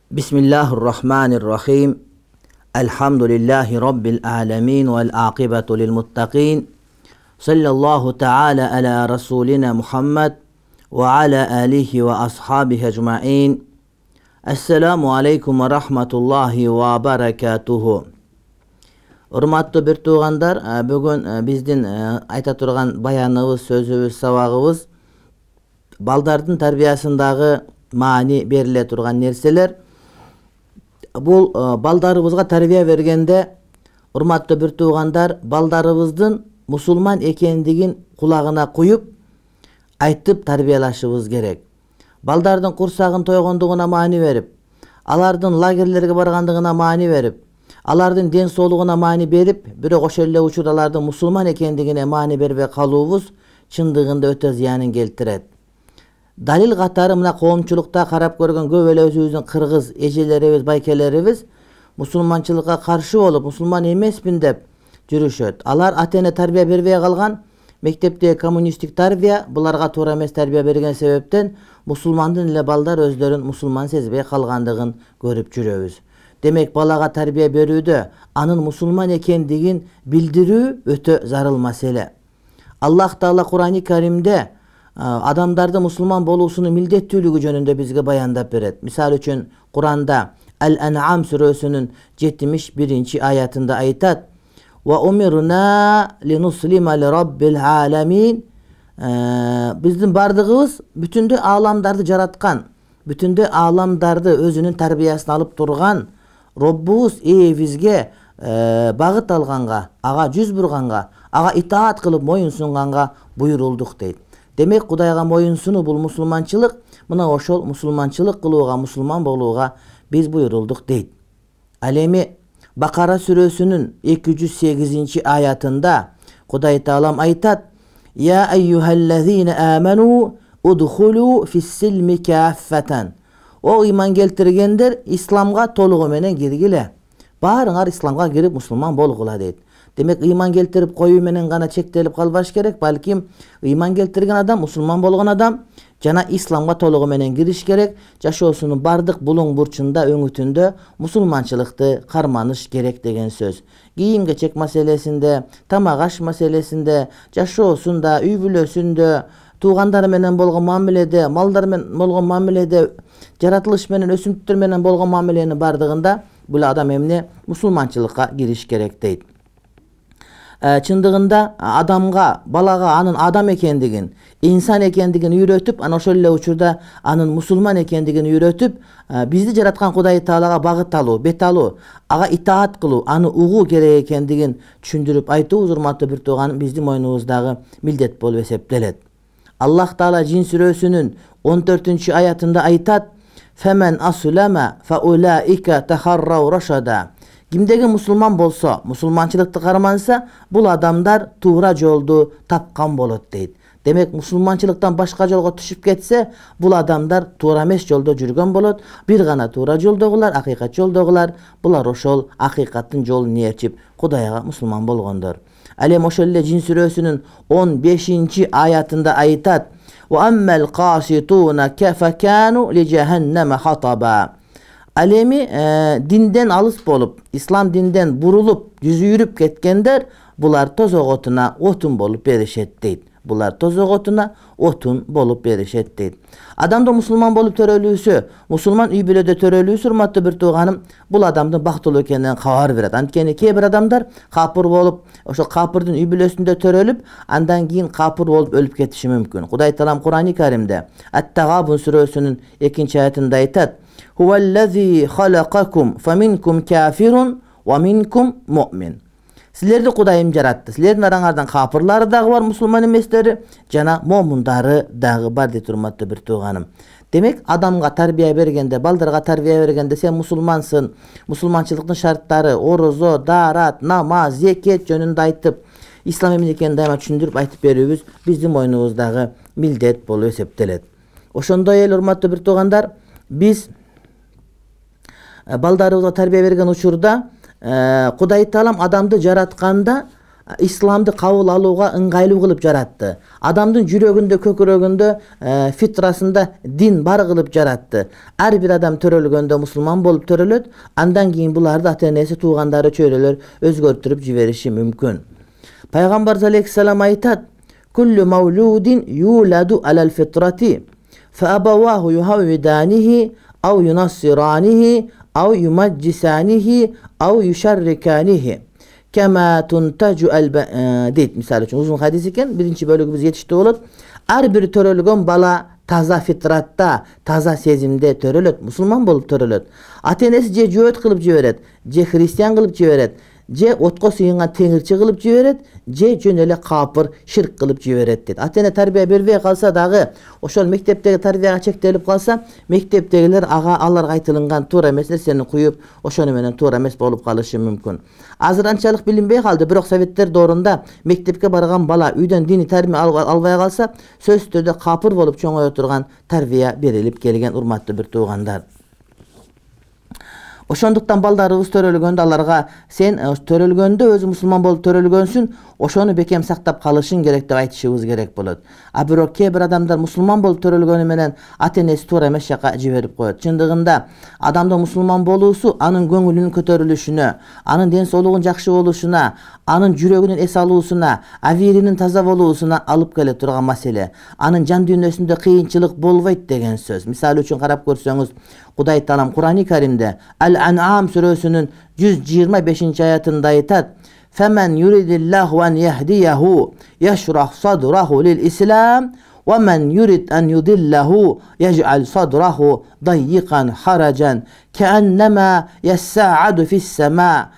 Bismillahirrahmanirrahim. Elhamdülillahi Rabbil alemin vel aqibatu lil muttaqin. Sallallahu ta'ala ala Rasulina Muhammed ve ala alihi ve ashabihi ecma'in. Esselamu aleykum ve rahmetullahi ve berekatuhu. Urmatlı bir tuğandar, bugün bizdin ayta turgan bayanыбыз, sözübüz, sabagыбыз baldardın tarbiyasındağı mani berile turgan nerseler. Бул балдарыбызга тарбия бергенде, урматтуу бир туугандар, балдарыбыздын мусулман экендигин кулагына куюп, айтып тарбиялашыбыз керек. Балдардын курсагын тойгондугуна маани берип, алардын лагерлерге баргандыгына маани берип, алардын ден соолугуна маани берип, бирок ошол эле учурда алардын мусулман экендигине маани бербей калуубуз чындыгында өтө зыянын келтирет. Далил катары мына коомчулукта карап көргөн көп эле өзүбүздүн кыргыз эжелерибиз, байкелерибиз мусулманчылыкка каршы болуп, мусулман эмесмин деп жүрүшөт. Алар ата-эне тарбия бербей калган, мектептеги коммунисттик тарбия буларга туура эмес тарбия берген себептен мусулмандын эле балдар өздөрүн мусулман сезбей калгандыгын көрүп жүрөбүз. Демек балага тарбия берүүдө анын мусулман экендигин билдирүү өтө зарыл маселе. Аллах Таала Кур'ан-ы Каримде адамдарды мусулман болуусунун милдеттүүлүгү жөнүндө бизге баяндап берет. Мисалы үчүн Кур'анда Ал-Ан'ам сүрөсүнүн 71-аятында айтат: "Ва умирна линуслима лираббил аламин." Биздин бардыгыбыз бүтүндө ааламдарды жараткан, бүтүндө ааламдарды өзүнүн тарбиясына алып турган Роббубуз бизге багыт алганга, ага жүз бурганга, ага итаат кылып моюн сунганга буйрулдук дейт. Демек Кудайга моюн сунуу бул мусулманчылык, мына ошол мусулманчылык кылууга, мусулман болууга биз буйрулдук дейт. Ал эми Бакара сүрөсүнүн 208-аятында Кудай Таалам айтат: "Я айюхаллазина аману удхулу фис-силми каффатан." О ыйман келтиргендер, исламга толугу менен киргиле. Баарыңар исламга кирип мусулман болгула дейт. Демек ыйман келтирип коюу менен гана чектелип калбаш керек, балким ыйман келтирген адам, мусулман болгон адам жана исламга толугу менен кириш керек. Жашоосунун бардык булуң бурчунда, өңүтүндө мусулманчылыкты карманыш керек деген сөз. Кийим-кечек маселесинде, тамак аш маселесинде, жашоосунда, үй бүлөсүндө, туугандары менен болгон мамиледе, малдар менен болгон мамиледе, жаратылыш менен, өсүмдүктөр менен болгон мамиленин бардыгында бул адам эмне мусулманчылыкка кириш керек дейт. Чындыгында адамга, балага анын адам экендигин, инсан экендигин үйрөтүп, ана ошол эле учурда анын мусулман экендигин үйрөтүп, бизди жараткан Кудай Таалага багыт алуу, бет алуу, ага итаат кылуу, аны угуу керек экендигин түшүндүрүп айтуубуз, урматтуу бир тууганым, биздин мойнубуздагы милдет болуп эсептелет. Аллах Таала Жин сүрөсүнүн 14-аятында айтат: "Фамен аслама фаулаика тахаррау рашада." Кимдеги мусулман болсо, мусулманчылыкты карманса, бул адамдар туура жолду тапкан болот дейт. Демек мусулманчылыктан башка жолго түшүп кетсе, бул адамдар туура эмес жолдо жүргөн болот. Бир гана туура жолдогулар, акыйкат жолдогулар, булар ошол акыйкаттын жолун ээрчип Кудайга мусулман болгондор. Ал эми ошол эле Жин сүрөсүнүн 15-аятында айтат: "Ва аммал каситуна кафакану ли жаханнама хатаба." Ал эми динден алыс болуп, ислам динден бурулуп, жүзү үйрүп кеткендер, булар тозоготуна отун болуп беришет дейт. Булар тозоготуна отун болуп беришет дейт. Адамды мусулман болуп төрөлүүсү, мусулман үй бүлөдө төрөлүүсү, урматтуу бир тууганым, бул адамдын бактылуу экенинен кабар берет. Анткени кээ бир адамдар капыр болуп, ошол капырдын үй бүлөсүндө төрөлүп, андан кийин капыр болуп өлүп кетиши мүмкүн. Кудай Таалам Кур'ан-ы Каримде Ат-Тагабун сүрөсүнүн 2-аятында айтат: "Huvallazi khalaqakum faminkum kafirun wa minkum mu'min." Силерди Кудайым жаратты. Силердин араңардан капырлары дагы бар, мусулман эместери, жана момундары дагы бар дейт, урматтуу бир тууганым. Демек, адамга тарбия бергенде, балдарга тарбия бергенде сен мусулмансың, мусулманчылыктын шарттары, орозо, даарат, намаз, зекет жөнүндө айтып, ислам эмне экенин дайыма түшүндүрүп айтып берүүбүз биздин мойнубуздагы милдет болуп эсептелет. Ошондой эле, урматтуу бир туугандар, биз балдарыбызга тарбия берген учурда Кудай Таалам адамды жаратканда исламды кабыл алууга ыңгайлуу кылып жаратты. Адамдын жүрөгүндө, көкүрөгүндө, фитрасында дин бар кылып жаратты. Ар бир адам төрөлгөндө мусулман болуп төрөлөт, андан кийин буларды ата-энеси, туугандары, чөйрөлөр өзгөртүрүп жибериши мүмкүн. Пайгамбар алейхиссалам айтат: "Куллу маулудин юладу алал фитрати, фа абаваху юхаввиданихи ау юнассиранихи ау юмаджисанихи ау юшарриканихи кама тунтажу дейт. Мисалы үчүн узун хадис экен, биринчи бөлүгү биз жетиштүү болот. Ар бир төрөлгөн бала таза фитратта, таза сезимде төрөлөт, мусулман болуп төрөлөт. Ата-энеси же жөөт кылып жиберет, же христиан кылып жиберет, же отко сыйынган теңирчи кылып жиберет, же жөн эле капыр, ширк кылып жиберет дейт. Ата-эне тарбия бербей калса дагы, ошол мектептеги тарбияга чектелип калса, мектептегилер аларга айтылган туура эмес нерсени куюп, ошону менен туура эмес болуп калышы мүмкүн. Азыр анчалык билинбей калды, бирок советтер доорунда мектепке барган бала үйдөн диний тарбия албай калса, сөзсүз түрдө капыр болуп чоңое турган тарбия берилип келген, урматтуу бир туугандар. Ошондуктан балдарыбыз төрөлгөндө аларга сен төрөлгөндө өзү мусулман болуп төрөлгөнсүн, ошону бекем сактап калышың керек деп айтышыбыз керек болот. А бирок кээ бир адамдар мусулман болуп төрөлгөнү менен ата-энеси туура эмес жака жиберип коет. Чындыгында адамдын мусулман болуусу анын көңүлүнүн көтөрүлүшүнө, анын ден соолугунун жакшы болушуна, анын жүрөгүнүн эс алуусуна, авиринин таза болуусуна алып келе турган маселе. Анын жан дүйнөсүндө кыйынчылык болбойт деген сөз. Мисалы үчүн карап көрсөңүз, Кудай Таалам Кур'ан-ы Каримде Ал-Ан'ам сүрөсүнүн 125 аятында айтат: "Фаман юридиллаху ан яхдияху яшрах садраху лил-ислам, ва ман юрид ан юдиллаху яж'ал садраху даййикан хараджан, кааннама яссааду фис-сама."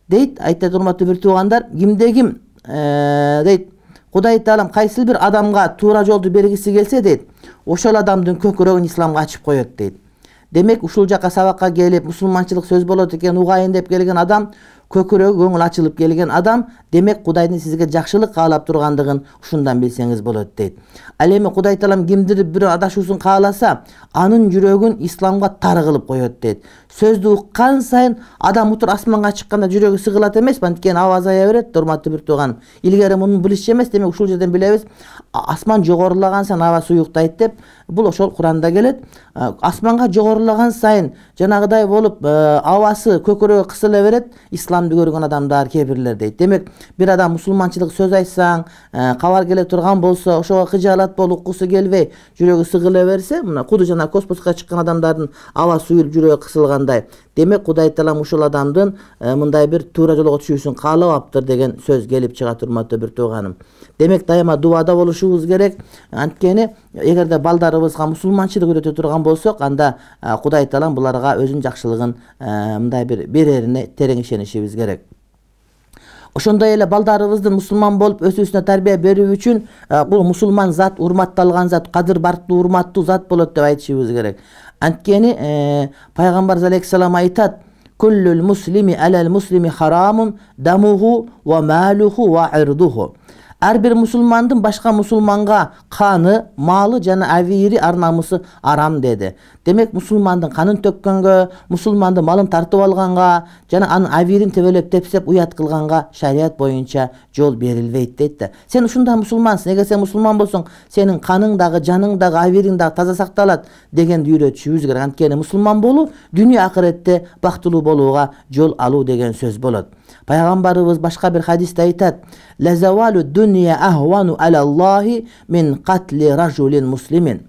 Дейт, айтат урматтуу бир туугандар, кимде ким дейт, Кудай Таалам кайсы бир адамга туура жолду бергиси келсе дейт, ошол адамдын көкүрөгүн исламга ачып коет дейт. Демек ушул жака сабакка келип, мусулманчылык сөз болот экен, угайын деп келген адам, көкүрөгү көңүл ачылып келген адам, демек Кудайдын сизге жакшылык каалап тургандыгын ушундан билсеңиз болот дейт. Ал эми Кудай Таалам кимдир бир адашуусун кааласа, анын жүрөгүн исламга тар кылып коет дейт. Сөздү уккан сайын адам утур асманга чыкканда жүрөгү сыгылат эмес, анткени аба азая берет, урматтуу бир тууган. Илгери муну билишчи эмес, демек ушул жерден билебиз, асман жогорулаган сайын аба суюктайт деп. Бул ошол Куранда келет. Асманга жогорулаган сайын жанагыдай болуп абасы көкүрөгү кысыла берет, исламды көргөн адамдар кээ бирлер дейт. Демек бир адам мусулманчылык сөз айтсаң, кабар келе турган болсо, ошого кыжаалат болуп, уккусу келбей, жүрөгү сыгыла берсе, мына куду жана космоска чыккан адамдардын аба суюлуп жүрөгү кысылгандай. Демек Кудай Таалам ушул адамдын мындай бир туура жолго түшүүсүн каалабаптыр деген сөз келип чыгат, урматтуу бир тууганым. Демек дайыма дуада болушубуз керек. Анткени эгерде балдарыбызга мусулманчылык үйрөтө турган болсок, анда Кудай Таалам буларга өзүнүн жакшылыгын мындай бир берерине терең ишенишибиз керек. Ошондой эле балдарыбыздын мусулман болуп өсүүсүнө тарбия берүү үчүн бул мусулман зат, урматталган зат, кадыр бартуу, урматтуу зат болот деп айтышыбыз керек. Анткени Пайгамбар алейхиссалам айтат: "Куллул муслими алал муслими харамун дамуху ва малуху ва ирдуху." Ар бир мусулмандын башка мусулманга каны, малы жана авири, ар намысы арам деди. Демек мусулмандын канын төккөнгө, мусулмандын малын тартып алганга жана анын авирин тебелеп тепсеп уят кылганга шарият боюнча жол берилбейт дейт да. Сен ушундай мусулмансың, эгер сен мусулман болсоң, сенин каның дагы, жаның дагы, авириң дагы таза сакталат дегенди үйрөтүшүбүз керек. Анткени мусулман болуу дүйнө акыретте бактылуу болууга жол алуу деген сөз болот. Пайгамбарыбыз башка бир хадисте айтат: "Лазавалу дунья ахвану алаллахи мин катли ражулин муслимин."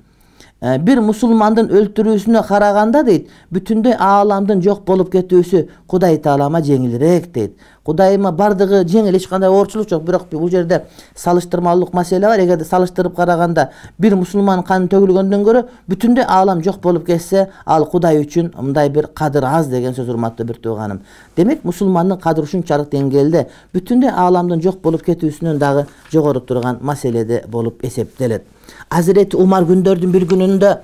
Бир мусулмандын өлтүрүүсүнө караганда дейт, бүтүндөй ааламдын жок болуп кетүүсү Кудай Таалама жеңилирээк дейт. Кудайыма бардыгы жеңил, эч кандай оорчулук жок, бирок бул жерде салыштырмалуулук маселе бар. Эгерде салыштырып караганда бир мусулман каны төгүлгөндөн көрө бүтүндөй аалам жок болуп кетсе, ал Кудай үчүн мындай бир кадыр аз деген сөз, урматтуу бир тууганым. Демек мусулмандын кадыры ушунчалык деңгээлде бүтүндөй ааламдын жок болуп кетүүсүнөн дагы жогору турган маселеде болуп эсептелет. Азирети Умар күндөрдүн бир күнүндө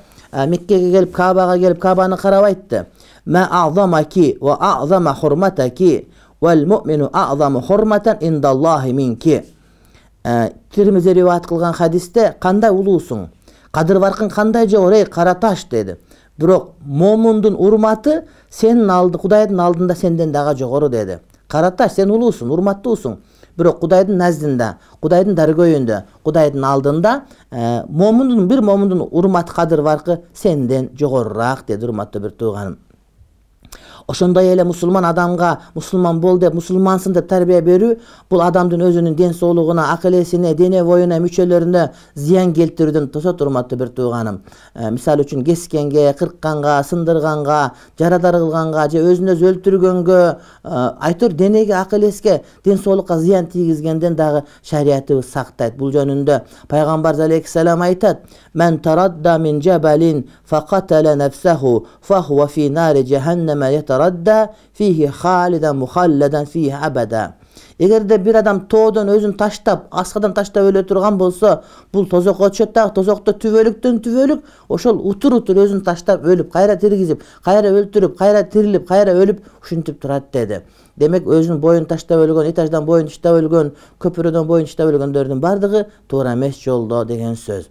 Меккеге келип, Каабага келип, Каабаны карап айтты: "Ма а'замаки ва а'зама хурматаки вал му'мину а'заму хурматан индаллахи минки." Тирмизи риваят кылган хадисте: "Кандай улуусуң, кадыр баркың кандай жогору, эй кара таш" деди. Бирок момундун урматы сенин Кудайдын алдында сенден дагы жогору деди. Караташ, сен улуусуң, урматтуусуң. Бирок Кудайдын наздында, Кудайдын даргөйүндө, Кудайдын алдында бир момундун урматы, кадыр баркы сенден жогорураак деди, урматтуу бир тууганым. Ошондой эле мусулман адамга мусулман бол деп, мусулмансың деп тарбия берүү бул адамдын өзүнүн ден соолугуна, акыл эсине, дене боюна, мүчөлөрүнө зыян келтирүүдөн тосот, урматтуу бир тууганым. Мисалы үчүн кескенге, кыркканга, сындырганга, жарадар кылганга же өзүн өзү өлтүргөнгө, айтор денеге, акыл эске, ден соолукка зыян тийгизгенден дагы шариятыбыз сактайт. Бул жөнүндө пайгамбар алейхиссалам айтат: "Мен тарадда мин жабалин фaqatala nafsahu fahuwa fi nari jahannama yataradda fihi khalidan mukhalladan fihi abada." Эгерде бир адам тоодон өзүн таштап, аскадан таштап өлө турган болсо, бул тозокко түшөт дагы, тозокто түбөлүктөн түбөлүк ошол утур өзүн таштап өлүп, кайра тиргизип, кайра өлтүрүп, кайра тирилип, кайра өлүп ушинтип турат деди. Демек өзүнүн боюн таштап өлгөн, этаждан боюн таштап өлгөн, көпүрөдөн боюн таштап өлгөндөрдүн бардыгы туура эмес жолдо деген сөз.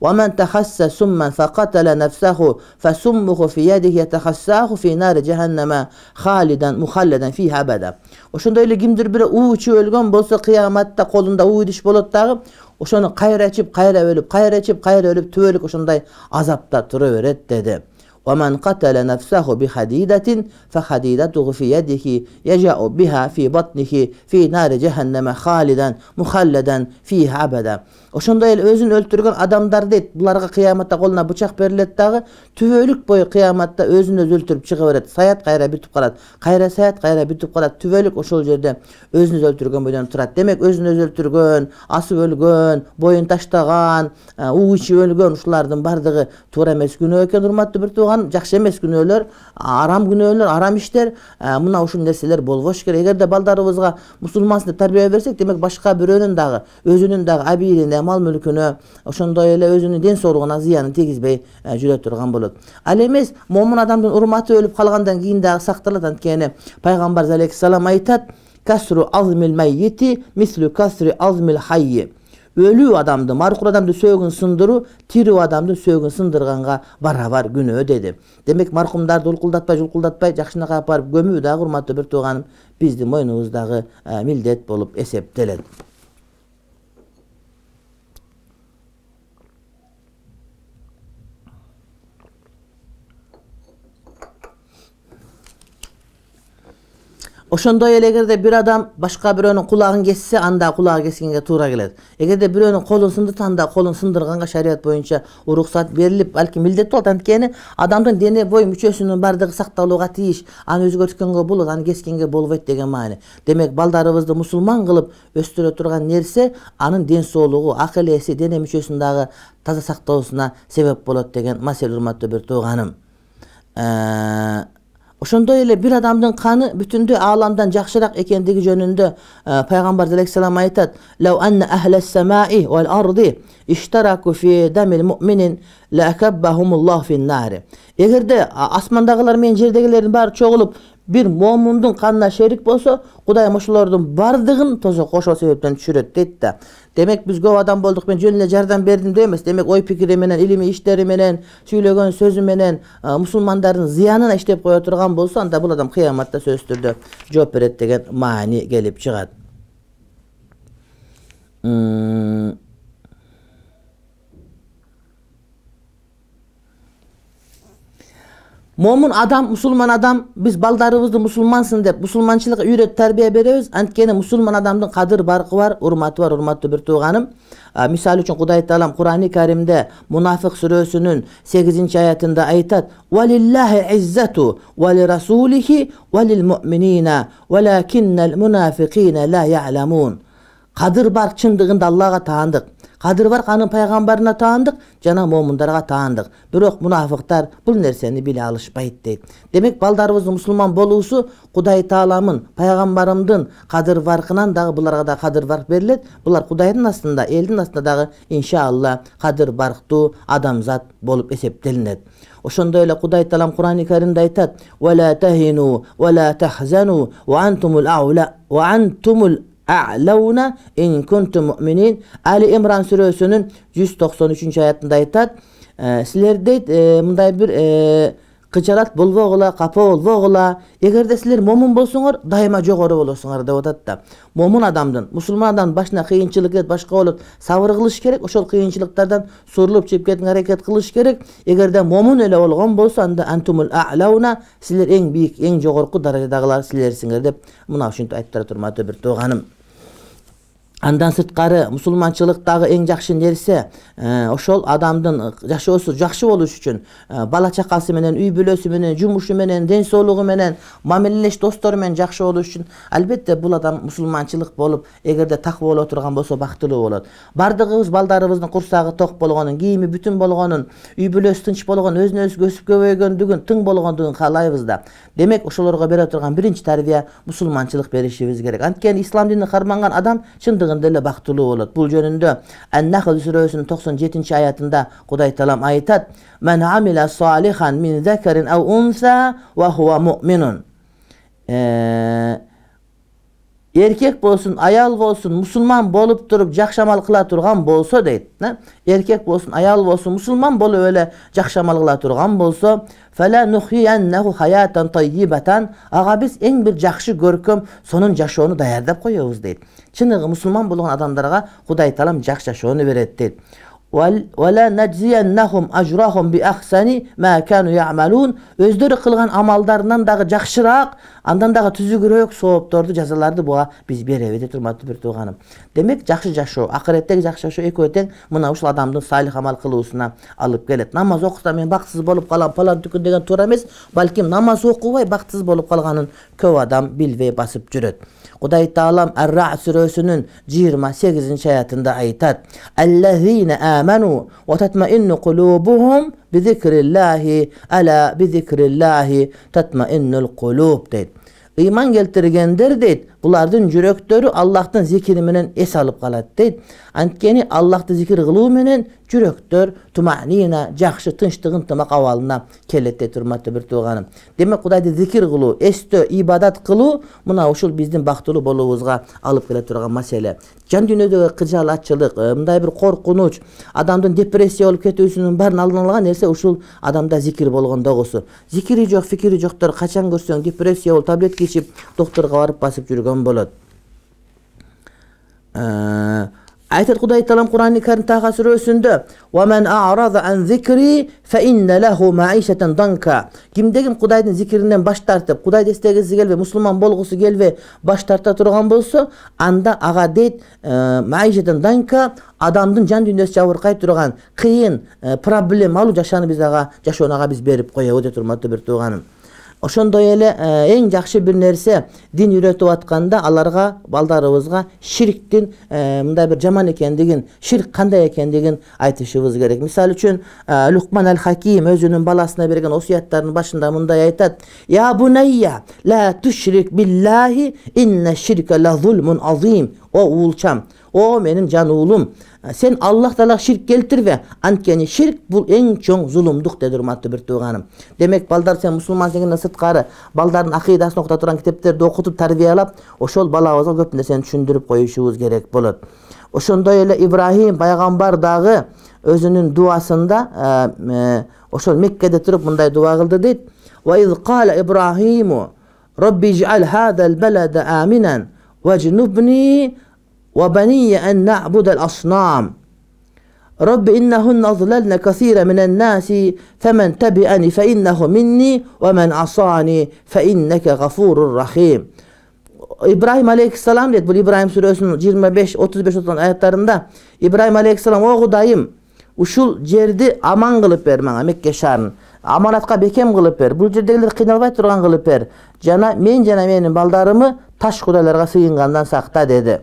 وَمَنْ تَخَسَّ سُمًّا فَقَتَلَ نَفْسَهُ فَسُمُّهُ فِي يَدِهِ يَتَخَسَّاهُ فِي نَارِ جَهَنَّمَ خَالِدًا مُخَلَّدًا فِيهَا أَبَدًا. Ошондой эле кимдир бири уу ичип өлгөн болсо, кыяматта колунда уу идиш болот дагы, ошону кайра ичип, кайра өлүп, кайра ичип, кайра өлүп, түбөлүк ошондой азапта тура берет деди. وَمَنْ قَتَلَ نَفْسَهُ بِحَدِيدَةٍ فَحَدِيدَتُهُ فِي يَدِهِ يَجَأُ بِهَا فِي بَطْنِهِ فِي نَارِ جَهَنَّمَ خَالِدًا مُخَلَّدًا فِيهَا أَبَدًا. Ошондой эле өзүн өлтүргөн адамдар дейт, буларга кыяматта колуна бычак берилет дагы, түбөлүк бою кыяматта өзүн өзү өлтүрүп чыга берет. Саят кайра бүтүп калат, кайра саят кайра бүтүп калат, түбөлүк ошол жерде өзүн өзү өлтүргөн бойдон турат. Демек өзүн өзү өлтүргөн, асып өлгөн, боюн таштаган, уу ичип өлгөн ушулардын бардыгы туура эмес күнөө экен, урматтуу бир тууган. Жакшы эмес күнөөлөр, күнөөлөр, арам иштер, мына ушул нерселер болбош керек. Эгерде балдарыбызга мусулмансың деп тарбия берсек, демек башка бирөөнүн дагы, өзүнүн дагы абийирине, мал мүлкүнө, ошондой эле өзүнүн ден соолугуна зыянын тийгизбей жүрө турган болот. Ал эмес, момун адамдын урматы өлүп калгандан кийин дагы сакталат. Анткени пайгамбар алейхиссалам айтат: "Касру азмил маййити мислу касри азмил хайи." Өлүү адамды, маркур адамды сөөгүн сындыруу тирүү адамды сөөгүн сындырганга барабар күнөө деди. Демек маркумдарды улкулдатпай, жакшынакай алып барып көмүү дагы, урматтуу бир тууганым, биздин мойнубуздагы милдет болуп эсептелет. Ошондой эле эгерде бир адам башка бирөөнүн кулагын кессе, анда кулагы кескенге туура келет. Эгерде бирөөнүн колун сындырса, анда колун сындырганга шарият боюнча уруксат берилип, балким милдет болот. Анткени адамдын дене бою мүчөсүнүн бардыгы сакталууга тийиш. Аны өзгөрткөнгө болот, аны кескенге болбойт деген маани. Демек балдарыбызды мусулман кылып өстүрө турган нерсе анын ден соолугу, акыл эси, дене мүчөсүн дагы таза сактоосуна себеп болот деген маселе, урматтуу бир тууганым. Ошондой эле бир адамдын каны бүтүндөй ааламдан жакшыраак экендиги жөнүндө пайгамбар алейхиссалам айтат: "Лау анна ахлас самаи вал арди иштараку фи дамил муъминин лаакаббахумуллаху фин-нари." Эгерде асмандагылар менен жердегилердин баары чогулуп бир момундун канына шерик болсо, Кудайым ошолордун бардыгын тозокко ошол себептен түшүрөт дейт да. Демек биз көп адам болдук, мен жөн эле жардам бердим деп эмес. Демек ой пикири менен, илимий иштери менен, сүйлөгөн сөзү менен мусулмандардын зыянына иштеп кое турган болсо, анда бул адам кыяматта сөзсүз түрдө жооп берет деген маани келип чыгат. Момун адам, мусулман адам, биз балдарыбызды мусулмансың деп, мусулманчылыкка үйрөтүп тарбия беребиз. Анткени мусулман адамдын кадыр баркы бар, урматы бар, урматтуу бир тууганым. Мисалы үчүн Кудай Таалам Кур'ани Каримде Мунафик сүрөсүнүн 8-аятында айтат: "Валиллахи иззату ва лирасулихи ва лилмуъминина валакиннал мунафикина ла я'ламун." Кадыр бар чындыгында Аллага таандык. Кадыр бар анын пайгамбарына таандык, жана момундарга таандык. Бирок мунафыктар бул нерсени биле алышпайт дейт. Демек балдарыбыздын мусулман болуусу Кудай Тааламын, пайгамбарымдын кадыр баркынан дагы буларга да кадыр барк берилет. Булар Кудайдын астында, элдин астында дагы иншалла кадыр барктуу адамзат болуп эсептелинет. Ошондой эле Кудай Таалам Кур'ани Каримде айтат: "Ва ла тахину ва ла тахзану ва антумул аула ва антумул a'launa in kuntum mu'minin." Ali Imran сүрөсүнүн 193-аятында айтат: силер дейт мындай бир кычалат болбогула, капа болбогула. Эгерде силер момун болсоңор, дайыма жогору болосуңар деп атат да. Момун адамдын, мусулман адамдын башына кыйынчылык келет, башка болот, сабыр кылыш керек. Ошол кыйынчылыктардан сурулуп чыгып кетүүгө аракет кылыш керек. Эгерде момун эле болгон болсо, анда антумул а'лауна, силер эң бийик, эң жогорку даражадагылар силерсиңер деп мына ушинтип айтып турат, урматтуу бир тууганым. Андан сырткары мусулманчылыктагы эң жакшы нерсе ошол адамдын жашоосу жакшы болуш үчүн бала чакасы менен, үй бүлөсү менен, жумушу менен, ден соолугу менен, мамилелеш достору менен жакшы болуш үчүн албетте бул адам мусулманчылык болуп, эгерде таква боло турган болсо бактылуу болот. Бардыгыбыз балдарыбыздын курсагы ток болгонун, кийими бүтүн болгонун, үй бүлөсү тынч болгон, өзүнө өзү өсүп көбөйгөндүгүн, тың болгондугун каалайбыз да. Демек ошолорго бере турган биринчи тарбия мусулманчылык беришибиз керек. Анткени ислам динин карманган адам чындыгында эле бактылуу болот. Бул жөнүндө Ан-Нахл сүрөсүнүн 97-аятында Кудай Таалам айтат: "Мен амила салихан мин закарин ау унса ва хува муъминун." Эркек болсун, аял болсун, мусулман болуп туруп жакшы амал кыла турган болсо дейт. Эркек болсун, аял болсун, мусулман болуп эле жакшы амал кыла турган болсо, фала нухияннаху хаятан таййибатан, ага биз эң бир жакшы көркөм сонун жашоону даярдап коебуз дейт. Чыныгы мусулман болгон адамдарга Кудай Таалам жакшы жашоону берет дейт. Вала наджияннахум ажрахум би ахсани ма кану яъмалун, өздөрү кылган амалдарынан дагы жакшыраак, андан дагы түзүгүрөөк соопторду, жазаларды буга биз беребиз дейт, урматтуу бир тууганым. Демек жакшы жашоо, акыреттеги жакшы жашоо экөө тең мына ушул адамдын салих амал кылуусуна алып келет. Намаз окусам мен бактысыз болуп калам, палан түкүн деген туура эмес, балким намаз окубай бактысыз болуп калганын көп адам билбей басып жүрөт. Кудай Таалам Ар-Рa'д сүрөсүнүн 28-аятында айтат: "Аллазина аману ва татмаинну кулубухум би зикриллахи, ала би зикриллахи татмаиннул кулуб" дейт. Ыйман келтиргендер дейт, булардын жүрөктөрү Аллахтын зикри менен эс алып калат дейт. Анткени Аллахты зикир кылуу менен жүрөктөр туманина, жакшы тынчтык ынтымак абалына келет дейт, урматтуу бир тууганым. Демек Кудайды зикир кылуу, эстөө, ибадат кылуу мына ушул биздин бактылуу болуубузга алып келе турган маселе. Жан дүйнөдөгү кыжалатчылык, мындай бир коркунуч, адамдын депрессия болуп кетүүсүнүн баарын алдын алган нерсе ушул адамда зикир болгондогусу. Зикири жок, фикири жоктор качан көрсөң депрессия болуп, таблетка ичип докторго барып басып жүргөн болот. Айтат Кудай Таалам Кур'ан-ы Карим Таха сүрөсүндө: "Ва мен а'рада ан зикри фа инна лаху маишатан данка." Кимдегим Кудайдын зикиринен баш тартып, Кудайды эстегиси келбей, мусулман болгусу келбей баш тарта турган болсо, анда ага дейт маишатан данка, адамдын жан дүйнөсү жабыркай турган кыйын, проблемалуу жашоону ага биз берип коебуз дейт, урматтуу бир тууганым. Ошондой эле эң жакшы бир нерсе дин үйрөтүп атканда аларга, балдарыбызга ширктин мындай бир жаман экендигин, ширк кандай экендигин айтышыбыз керек. Мисалы үчүн Лукман аль-Хаким өзүнүн баласына берген осуяттарынын башында мындай айтат: "Я бунайя ла тушрик биллахи инна ширка ла зулмун азим." О уулчам, о менин жан уулум, сен Аллах Таалага ширк келтирбе, анткени ширк бул эң чоң зулумдук деди, урматтуу бир тууганым. Демек балдар, сен мусулман экенден сырткары балдардын акыйдасын окута турган китептерди окутуп тарбиялап, ошол балабызга көп нерсени түшүндүрүп коюшубуз керек болот. Ошондой эле Ибрахим пайгамбар дагы өзүнүн дуасында ошол Меккеде туруп мындай дуа кылды дейт: "Ва из кала Ибрахиму Робби жа'ал хадал балада аминан важнубни ва банiyya an na'budu al-asnam. Rabbi innahunna adlalna kathira minan nasi faman tabi'ani fa innahu minni wa man asani fa innaka ghafurur rahim." İbrahim aleyhisselam deyip, bu İbrahim Suresi'nin 25-35 ayetleriinde İbrahim aleyhisselam: "O Kudayım, uşul жерди aman kılıp ver bana, Mekke şarını. Amanatka bekem kılıp ver. Bu жерdegiler kıynalbay turgan kılıp ver. Jana menin baldarımı taş kudaylarga sığıngandan sakta" dedi.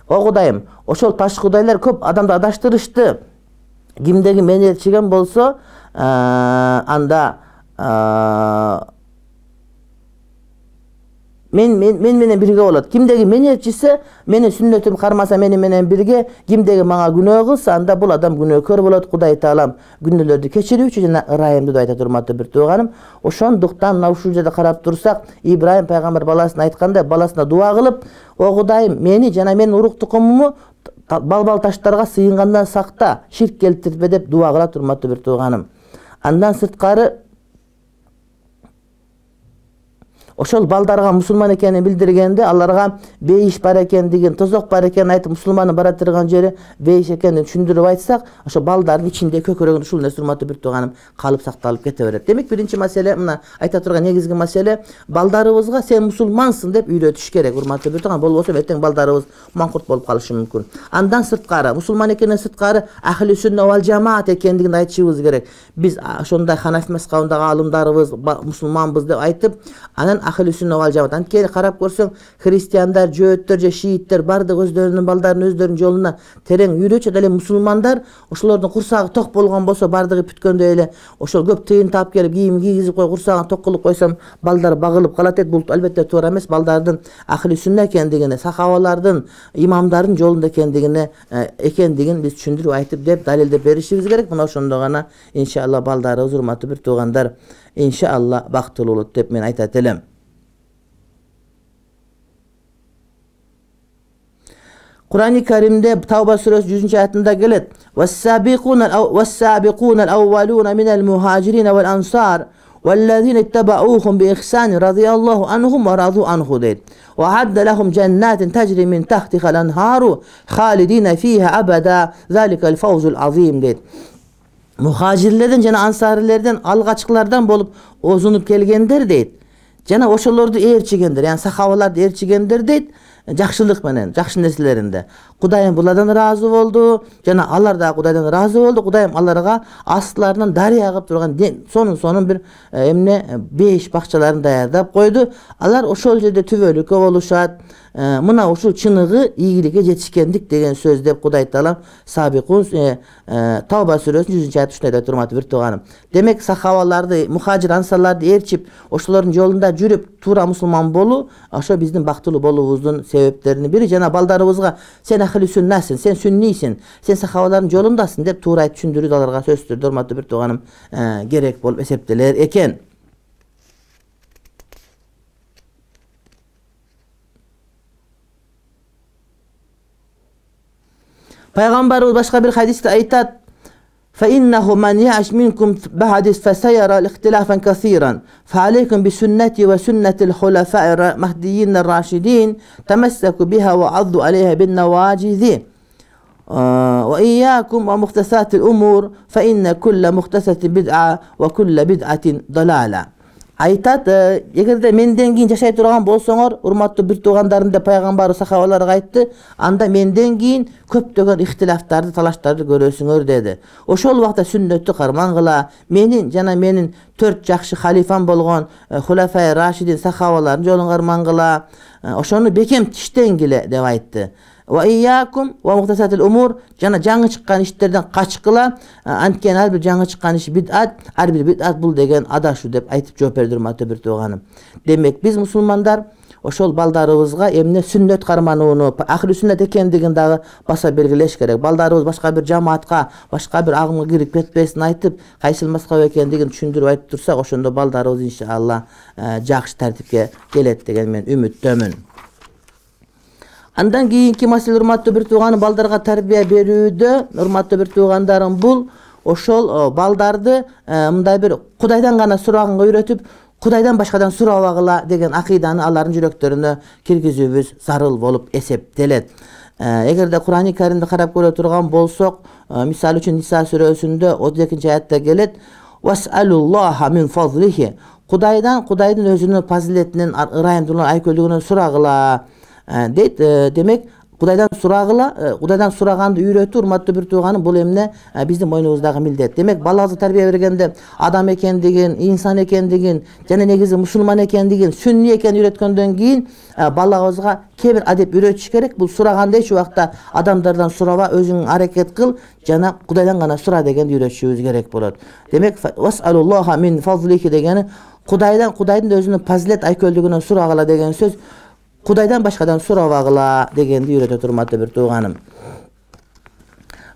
O Kudayım, ошол таш кудайлар көп адамды адаштырышты. Кимдеги менетчиген болсо, анда men менен бирге болот. Кимдеги менетчиси менин сүннөтүм кармаса менен бирге, кимдеги мага күнөө кылса, анда бул адам күнөөкөр болот. Кудай Таалам күнөөлөрдү кечирүүчү жана ырайымдуу деп айтат, урматтуу бир тууганым. Ошондуктан мына ушул жерде карап турсак, Ибрахим пайгамбар баласына айткандай, баласына дуа кылып: "О Кудайым, мени жана менин урук тукумуму балбал таштарга сыйынгандан сакта, ширк келтирбе деп дуа кылат урматтуу бир тууганым. Андан сырткары ошол балдарга мусулман экенин билдиргенде, аларга бейиш бар экендигин, тозок бар экенин айтып, мусулмандын бара турган жери бейиш экенин түшүндүрүп айтсак, ошо балдардын ичинде көкөрөгүндө ушул нерсе урматтуу бир тууганым калып сакталып кете берет. Демек, биринчи маселе, мына айта турган негизги маселе, балдарыбызга сен мусулмансың деп үйрөтүш керек, урматтуу бир тууган. Болбосо эртең балдарыбыз маңкурт болуп калышы мүмкүн. Андан сырткары, мусулман экенин сырткары ахли сүннат вал жамаат экендигин айтышыбыз керек. Биз ошондой ханафи мазхабындагы алымдарыбыз мусулманбыз деп айтып, анан ахли сүннат вал жамаат. Анткени карап көрсөң, христиандар, жөөттөр же шииттер бардыгы өздөрүнүн балдарын өздөрүнүн жолуна терең үйрөтүп, эле мусулмандар ошолордун курсагы ток болгон болсо, бардыгы бүткөндөй эле ошол көп тыйын таап келип, кийим кийгизип коюп, курсагын ток кылып койсом, балдар багылып калат дейт. Бул албетте туура эмес. Балдардын ахли сүннат экендигине, сахабалардын, имамдардын жолунда экендигин биз түшүндүрүп айтып деп далилдеп беришибиз керек. Мына ошондо гана иншалла балдарыбыз, урматтуу бир туугандар, иншалла бактылуу болот деп мен айтат элем. Kur'an-ı Kerim'de Tavba suresi 100. ayetinde gelir. وَالسَّابِقُونَ الْأَوَّلُونَ مِنَ الْمُهَاجِرِينَ وَالْأَنْصَارِ وَالَّذِينَ اتَّبَعُوهُمْ بِإِحْسَانٍ رَضِيَ اللّٰهُ عَنْهُمْ وَرَضُوا عَنْهُ deyir. وَعَدَّ لَهُمْ جَنَّاتٍ تَجْرِي مِنْ تَحْتِهَا الْأَنْهَارُ خَالِدِينَ فِيهَا أَبَدًا ذَلِكَ الْفَوْزُ الْعَظِيمُ deyir. Muhacirlerden jana ansarilerden, algaçkılardan bolup ozunup kelgender deyit. Jana oşolordu ээрчигендер, yani sahabalardı ээрчигендер deyit. Жакшылык менен, жакшы нерселеринде. Кудайым булардан разы болду, жана алар да Кудайдан разы болду. Кудайым аларга астыларынан дарыя агып турган сонун бир беш бакчаларын даярдап койду. Алар ошол жерде түбөлүккө болушат. Мына ушул чыныгы ийгиликке жетишкендик деген сөз деп Кудай Таалам Сабикун Тавба сүрөсүнүн 100-ч аят ушундай деп урматтуу бир тууганым. Демек, сахабаларды, мухажир ансарларды ээрчип, ошолордун жолунда жүрүп, туура мусулман болуу, ошо биздин бактылуу болуубуздун себептеринин бири. Жана балдарыбызга сен ахли сүннатсың, сен сүннийсиң, сен сахабалардын жолундасың деп туура айтып түшүндүрүү аларга сөзсүз түрдө урматтуу бир тууганым керек болуп эсептелер экен. Peygamberimiz başka bir hadiste aytat: فَإِنَّهُ مَنْ يَعْشْ مِنْكُمْ بَعْدِ فَسَيَرَى اِخْتِلَافًا كَثِيرًا فَعَلَيْكُمْ بِسُنَّتِي وَسُنَّةِ الْخُلَفَاءِ الْمَهْدِيِّينَ الرَّاشِدِينَ تَمَسَّكُوا بِهَا وَعَضُّوا عَلَيْهَا بِالنَّوَاجِذِ وَإِيَّاكُمْ وَمُحْدَثَاتِ الْأُمُورِ فَإِنَّ كُلَّ مُحْدَثَةٍ بِدْعَةٍ وَكُلَّ بِدْعَةٍ ضَلَالَةٍ. Айтат, эгерде менден кийин жашай турган болсоңор, урматтуу бир туугандарым деп пайгамбар сахабаларга айтты, анда менден кийин көптөгөн ихтилафтарды, талаштарды көрөсүңөр деди. Ошол убакта сүннөттү кармангыла, менин жана менин 4 жакшы халифам болгон Хулафай Рашидин сахабалардын жолун кармангыла, ошону бекем тиштенгиле деп айтты. Wa iyyakum wa muhtasatil umur, jana жаңы чыккан иштерден качкыла, анткени ар бир жаңы чыккан иш бид'ат, ар бир бид'ат бул деген адашуу деп айтып жооп берди урматтуу бир тууганым. Демек, биз мусулмандар ошол балдарыбызга эмне сүннөт карманууну, ахли сүннөт экендигин дагы баса белгилеш керек. Балдарыбыз башка бир жамаатка, башка бир агымга кирип кетпесин айтып, кайсыл мазхаб экендигин түшүндүрүп айтып турсак, ошондо балдарыбыз иншалла жакшы тартипке келет деген мен үмүттөмүн. Андан кийинки маселе, урматтуу бир тууганым, балдарга тарбия берүүдө, урматтуу бир туугандарым, бул ошол балдарды мындай бир Кудайдан гана сураганга үйрөтүп, Кудайдан башкадан сурабагыла деген акыйданы алардын жүрөктөрүнө киргизүүбүз зарыл болуп эсептелет. Эгерде Кур'ан-ы Каримди карап көрө турган болсок, мисалы үчүн Ниса сүрөсүндө 32-ч аятта келет: "Вас'алуллаха мин фазлихи", Кудайдын өзүнүн фазилетинен, ырайымдуулугунан, айкөлдүгүнөн сурагыла дейт. Демек, Кудайдан сурагыла, Кудайдан сураганды үйрөтүү, урматтуу бир тууганым, бул эмне биздин мойнубуздагы милдет. Демек, балабызга тарбия бергенде адам экендигин, инсан экендигин, жана негизи мусулман экендигин, сүнни экенин үйрөткөндөн кийин балабызга кээ бир адеп үйрөтүш керек. Бул сураганда эч убакта адамдардан сураба, өзүң аракет кыл, жана Кудайдан гана сура дегенди үйрөтүшүбүз керек болот. Демек, вас'алуллаха мин фазлихи дегени Кудайдын өзүнүн фазилет айкөлдүгүнөн сурагыла деген сөз, Кудайдан башкадан сурабагыла дегенди үйрөтөт урматтуу бир тууганым.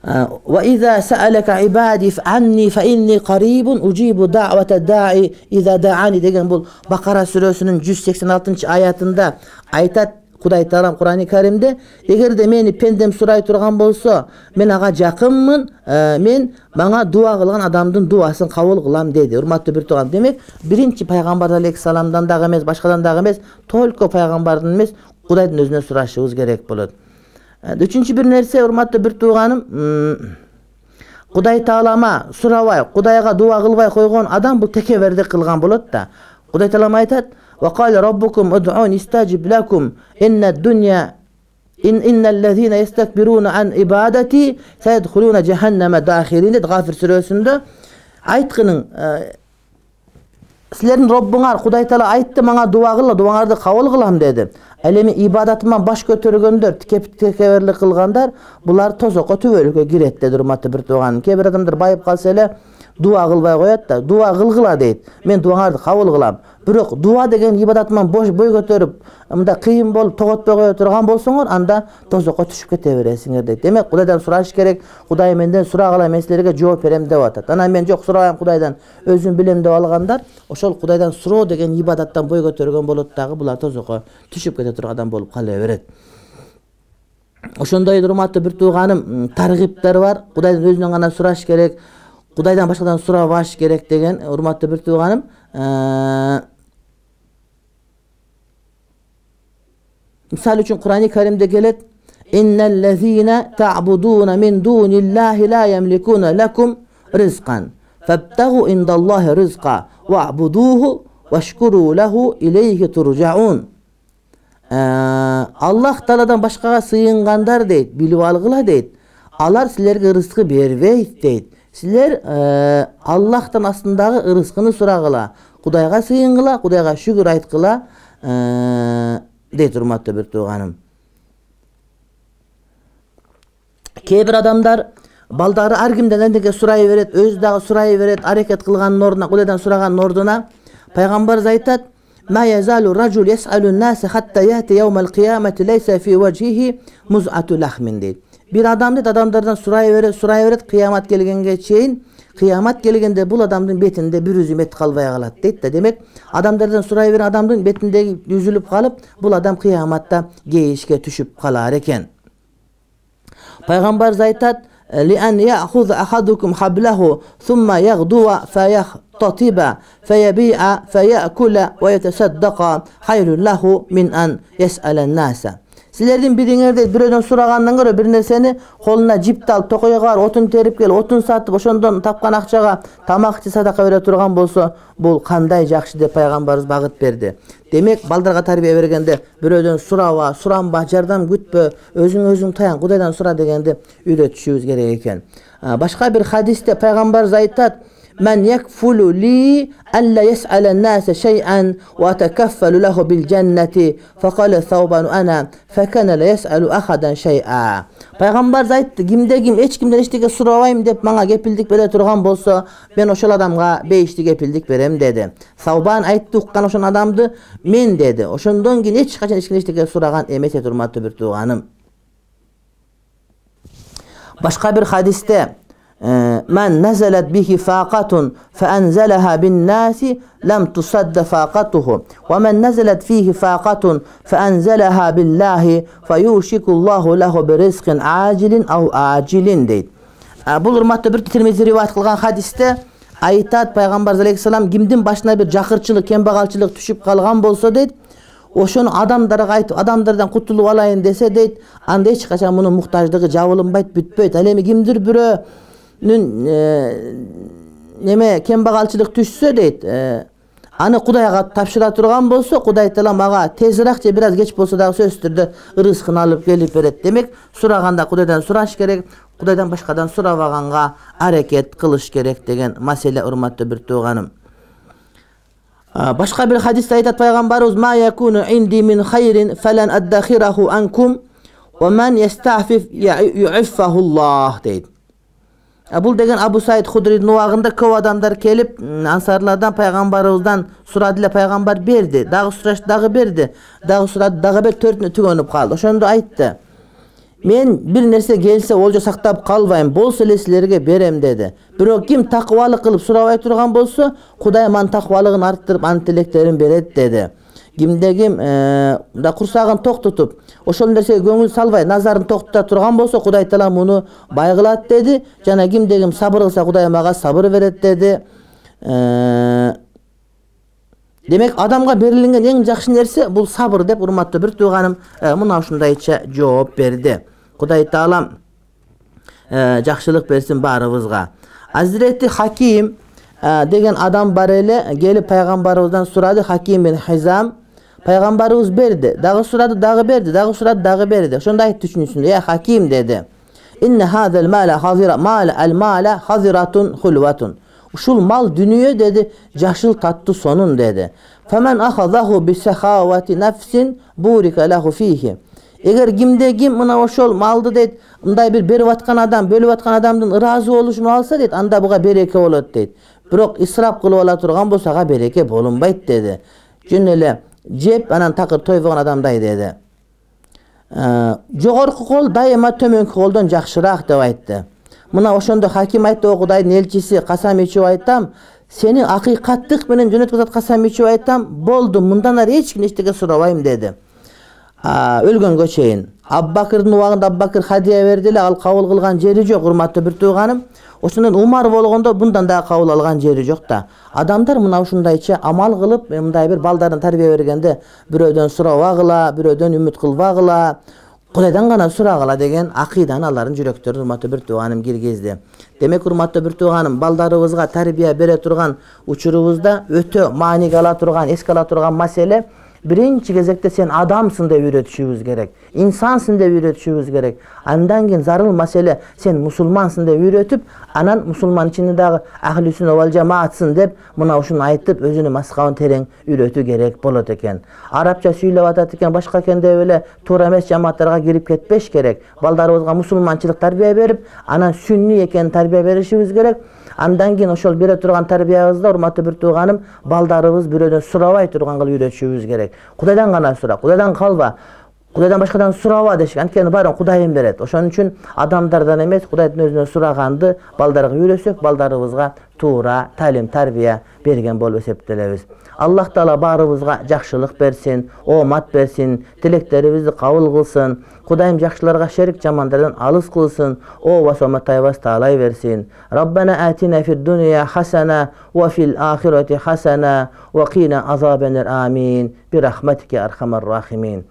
Wa iza sa'alaka ibadi fa'anni fa inni qaribun ujibu da'wata da'i iza da'ani деген бул Бакара сүрөсүнүн 186-аятында айтат: Кудай Таалам Кур'ан-ы Каримде эгерде мени пендем сурай турган болсо, мен ага жакынмын, мен мага дуа кылган адамдын дуасын кабыл кылам деди. Урматтуу бир тууган, демек биринчи пайгамбар алейхиссаламдан дагы эмес, башкадан дагы эмес, только пайгамбардын эмес, Кудайдын өзүнө сурашыбыз керек болот. Үчүнчү бир нерсе, урматтуу бир тууганым, Кудай Таалама сурабай, Кудайга дуа кылбай койгон адам бул текебердик кылган болот да. Кудай Таалам айтат: "Ва кала раббукум уд'уни истажиб лакум иннад-дунья инналлазина ястакбируна ан ибадати сайадхулуна жаханнама дахирин" деп Гафир сүрөсүндө айткынын, силердин Роббуңар Кудай Таала айтты, мага дуа кылла, дуаңарды кабыл кылам деди. Ал эми ибадатыман баш көтөргөндөр, текеберлик кылгандар, булар тозокко, түбөлүккө кирет деди. Урматтуу бир тууган, кээ бир адамдар байып калса эле дуа кылбай коет да, дуа кылгыла дейт. Мен дуаңарды кабыл кылам. Бирок дуа деген ибадатыман бой көтөрүп, мындай кыйын болуп тоготпой кое турган болсоңор, анда тозокко түшүп кете бересиңер дейт. Демек Кудайдан сураш керек. Кудай менден сурагыла, мен силерге жооп берем деп атат. Анан мен жок сурабайм Кудайдан, өзүм билем деп алгандар, ошол Кудайдан суроо деген ибадаттан бой көтөргөн болот дагы, булар тозокко түшүп кете турган адам болуп кала берет. Ошондой урматтуу бир тууганым, таргиптер бар. Кудайдан өзүнөн гана сураш керек, Кудайдан башкадан сурабаш керек деген, урматтуу бир тууганым. Мисалы үчүн Кур'ан-ы Каримде келет: "Инналлазина та'будуна мин дуниллахи ла ямликуна лакум ризкан, фабтагу индаллахи ризка вa'будуху вашкуру лаху илейхи туржаун." Аллах Тааладан башкага сыйынгандар дейт, билип алгыла дейт. Алар силерге рызкы бербейт дейт. Силер Аллахтан астындагы рызкыны сурагыла, Кудайга сыйынгыла, Кудайга шүгүр айткыла дейт. Урматтуу бир тууганым, кээ бир адамдар балдары ар кимден эндеке сурай берет, өзү дагы сурай берет, аракет кылганын ордуна, Кудайдан сураганын ордуна пайгамбарыбыз айтат: "Ма язалу ражул ясалу нас хатта яти яумал кыямати лейса фи важхихи муз'ату лахмин" дейт. Бир адам дейт, адамдардан сурай берет, кыямат келгенге чейин, кыямат келгенде бул адамдын бетинде бир үзүм эт калбай калат дейт да. Демек адамдардан сурай берген адамдын бетиндеги үзүлүп калып, бул адам кыяматта кейишке түшүп калар экен. Пайгамбарыбыз айтат: "Лиан яхуз ахадукум хаблаху сумма ягдуа фаяхтатиба фаяби'a фаякула ва ятасаддаqa хайрун лаху мин ан яс'алан-наса." Силердин бириңерде бирөөдөн сурагандан көрө бир нерсени колуна жипти алып, токойго барып, отун терип келип, отун сатып, ошондон тапкан акчага тамак ичи садака бере турган болсо, бул кандай жакшы деп пайгамбарыбыз багыт берди. Демек балдарга тарбия бергенде бирөөдөн сураба, суранба, жардам күтпө, өзүң таян, Кудайдан сура дегенди үйрөтүшүбүз керек экен. Башка бир хадисте пайгамбарыбыз айтат: "Мен якфулу ли алла яс'алан-наса шай'ан ва атакаффалу лаху бил жаннати фaqala thawban ana fakana la yas'alu ahadan shay'a." Пайгамбарыбыз айтты: "Кимде-ким эч кимден эчтеке сурабайм деп мага кепилдик бере турган болсо, мен ошол адамга бейишти кепилдик берем" деди. Саубан айтты, уккан ошол адамды: "Мен" деди. Ошондон кийин эч качан эчтеке сураган эмес эди. Урматтуу бир тууганым, башка бир хадисте: "Мен назалат бихи фaqatun фаанзалаха бин-наси лам тусадда фaqatuhu ва мен назалат фихи фaqatun фаанзалаха биллахи фаюшикуллаху лаху биризқин ажилин ау ажилин" дейт. Бул урматтуу бир Тирмизи риваят кылган хадисте айтат пайгамбарыбыз алейхиссалам: "Кимдин башына бир жакырчылык, кембагалчылык түшүп калган болсо" дейт, "ошону адамдарга айтып, адамдардан кутулуп алайын десе" дейт, "анда эч качан мунун муктаждыгы жабылынбайт, бүтпөйт. Ал эми кимдир бирөө неме кембагалчылык түшсө" дейт, "аны Кудайга тапшыра турган болсо, Кудай Таала мага тезирээк же бир аз кеч болсо дагы сөзсүз түрдө рызкын алып келип берет". Демек сураганда Кудайдан сураш керек, Кудайдан башкадан сурабаганга аракет кылыш керек деген маселе. Урматтуу бир тууганым, башка бир хадисте айтат пайгамбарыбыз: "Ма якуну инди мин хайрин фалан аддахираху анкум ва ман ястафиф ю'иффахуллах" дейт. Бул деген Абу Саид Худридин убагында көп адамдар келип ансарлардан пайгамбарыбыздан сурады эле, пайгамбар берди, дагы сурашты, дагы берди, дагы сурады, дагы берди, төртүнө түгөнүп калды. Ошондо айтты: "Мен бир нерсе келсе олжо сактап калбайм, болсо эле силерге берем" деди. "Бирок ким такыбалык кылып сурабай турган болсо, Кудай анын такыбалыгын арттырып, анын тилектерин берет" деди. кимде ким да курсагын токтотуп ошол нерсеге көңүл салбай назарын токтото турган болсо Кудай Таала муну бай кылат деди. Жана кимде ким сабыр кылса Кудай мага сабыр берет деди. Демек адамга берилген эң жакшы нерсе бул сабыр деп урматтуу бир тууганым мына ушундайча жооп берди. Кудай Таала жакшылык берсин баарыбызга. Азирети Хаким деген адам бар эле, келип пайгамбарыбыздан сурады. Хаким бин Хизам пайгамбарыбыз берди, дагы сурады, дагы берди, дагы сурады, дагы берди. Ошондо айтты үчүнчүсүндө: "Я Хаким" деди. "Инна хазал мала хазира мал al-mala haziratun khulwatun." Ушул мал дүнүйө деди, жашыл таттуу сонун деди. "Faman akhadahu bi sakhawati nafsin burika lahu fihi." Эгер кимде ким мына ошол малды дейт, мындай бир берип аткан адам, бөлүп аткан адамдын ыраазы болушун алса дейт, анда буга береке болот дейт. Бирок исрап кылып ала турган болсо ага береке болунбайт деди. Жөн эле жеп анан такыр тойбогон адамдай деди. Жогорку кол дайыма төмөнкү колдон жакшыраак деп айтты. Мына ошондо Хаким айтты: "О Кудайдын элчиси, касам ичип айтам, сени акыйкаттык менен жөнөткүп атат, касам ичип айтам, болду, мындан ары эч ким эчтеке сурабайм" деди. Өлгөнгө чейин. Аббакырдын убагында Аббакыр хадия берди эле, ал кабыл кылган жери жок, урматтуу бир тууганым. Ошондон Умар болгондо bundan да кабыл алган жери жок да. Адамдар мына ушундайча амал кылып, мындай бир балдарын тарбия бергенде бирөөдөн сурабагыла, бирөөдөн үмүт кылбагыла, Кудайдан гана сурагыла деген акыйданы алардын жүрөктөрүнө урматтуу бир тууганым киргизди. Демек урматтуу бир тууганым, балдарыбызга тарбия бере турган учурубузда өтө мааниге ала турган, эске ала турган маселе биринчи кезекте сен адамсың деп үйрөтүшүбүз керек. İnsansın деп үйрөтүшүбүз керек. Андан кийин зарыл маселе сен мусулмансың деп үйрөтүп, анан мусулман ичинде дагы ахлүсүн вал жамаатсың деп мына ушуну айтып өзүнүн маскабын терең үйрөтүү керек болот экен. Арабча сүйлөп атат экен, башка экен деп эле туура эмес жамааттарга кирип кетпеш керек. Балдарыбызга мусулманчылык тарбия берип, анан сүнни экенин тарбия беришибиз керек. Андан кийин ошол бере турган тарбиябызда урматтуу бир тууганым, балдарыбыз бирөөдөн сурабай турган кылып үйрөтүшүбүз керек. Кудайдан гана сура, Кудайдан калба. Кудайдан башкадан сураба дешкен. Анткени баарын Кудайым берет. Ошон үчүн адамдардан эмес, Кудайдын өзүнөн сураганды балдарга үйрөтсөк, балдарыбызга туура талим, тарбия берген болуп эсептелебиз. Аллах Таала баарыбызга жакшылык берсин, оомат берсин, тилектерибизди кабыл кылсын. Кудайым жакшыларга шерик, жамандардан алыс кылсын. О басоматайбас таалай берсин. Раббана атина фид дуния хасана ва фил ахирати хасана ва кина азабанар. Амин. Би рахматика архамар рахимин.